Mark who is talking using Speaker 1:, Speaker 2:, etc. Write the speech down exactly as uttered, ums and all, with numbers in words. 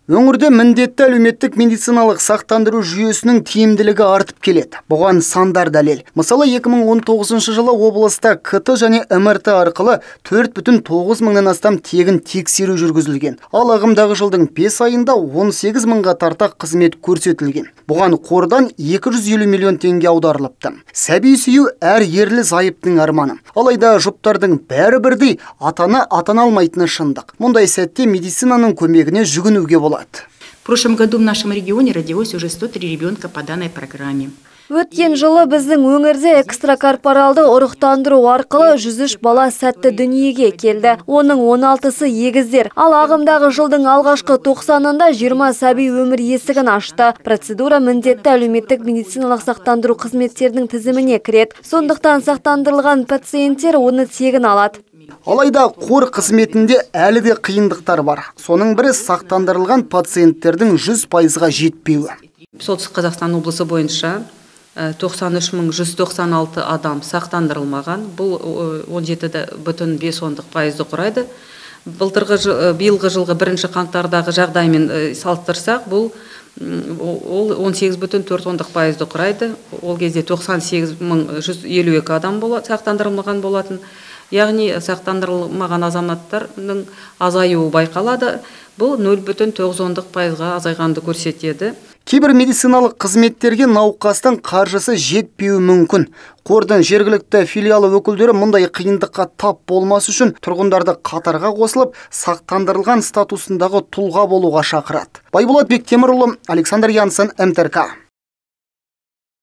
Speaker 1: Өңірде міндетті әлеуметтік медициналық сақтандыру жүйесінің тиімділігі артып келеді. Бұған сандар дәлел. Мысалы, екі мың он тоғызыншы жылы облыста КТ және МРТ арқылы төрт бүтін тоғыз мыңнан астам тегін тексеру жүргізілген. Ал ағымдағы жылдың бес айында он сегіз мыңға тарта қызмет көрсетілген. Бұған қордан екі жүз елу миллион теңге аударылыпты. Сәби сүю әр ерлі зайыптың арманы. Алайда жұптардың бәрі бірдей, атаны атана алмайтыны шындық. Мұндай сәтте медицинаның көмегіне жүгінуге болады.
Speaker 2: В прошлом году в нашем регионе родилось уже сто три ребенка по данной программе.
Speaker 3: Өткен жылы біздің өңірде экстракорпоралды ұрықтандыру арқылы жүз үш бала сәтті дүниеге келді. Оның он алтысы егіздер. Ал ағымдағы жылдың алғашқы тоқсанында жиырма сәби өмір есігін ашты. Процедура міндетті әлеуметтік медициналық сақтандыру қызметтерінің тізіміне кіреді. Сондықтан сақтандырылған пациенттер оны тегін алады.
Speaker 1: Алайда қор қызметінде әлі де қиындықтар бар. Соның бірі сақтандырылған пациенттердің жүз пайызға жетпеуі.
Speaker 4: Солтүстік Қазақстан облысы бойынша тоқсан үш мың жүз тоқсан алты адам сақтандырылмаған. Бұл он жеті бүтін бес пайызды құрайды. Былтырғы биылғы жылғы бірінші қаңтардағы жағдаймен салыстырсақ, бұл ол он сегіз бүтін төрт пайызды құрайды. Ол кезде тоқсан сегіз мың жүз елу екі адам сақтандырылмаған болатын. Яғни сақтандырылмаған азаматтардың азаюы байқалады. Бұл нөл бүтін тоғыз пайызға азайғанды көрсетеді.
Speaker 1: Кейбір медициналық қызметтерге науқастың қаржысы жетпеуі мүмкін. Қордың жергілікті филиалы өкілдері мұндай қиындыққа тап болмас үшін тұрғындарды қатарға қосылып, сақтандырылған статусындағы тұлға болуға шақырады. Байболат Бектемірұлы, Александр Янсен, МТРК.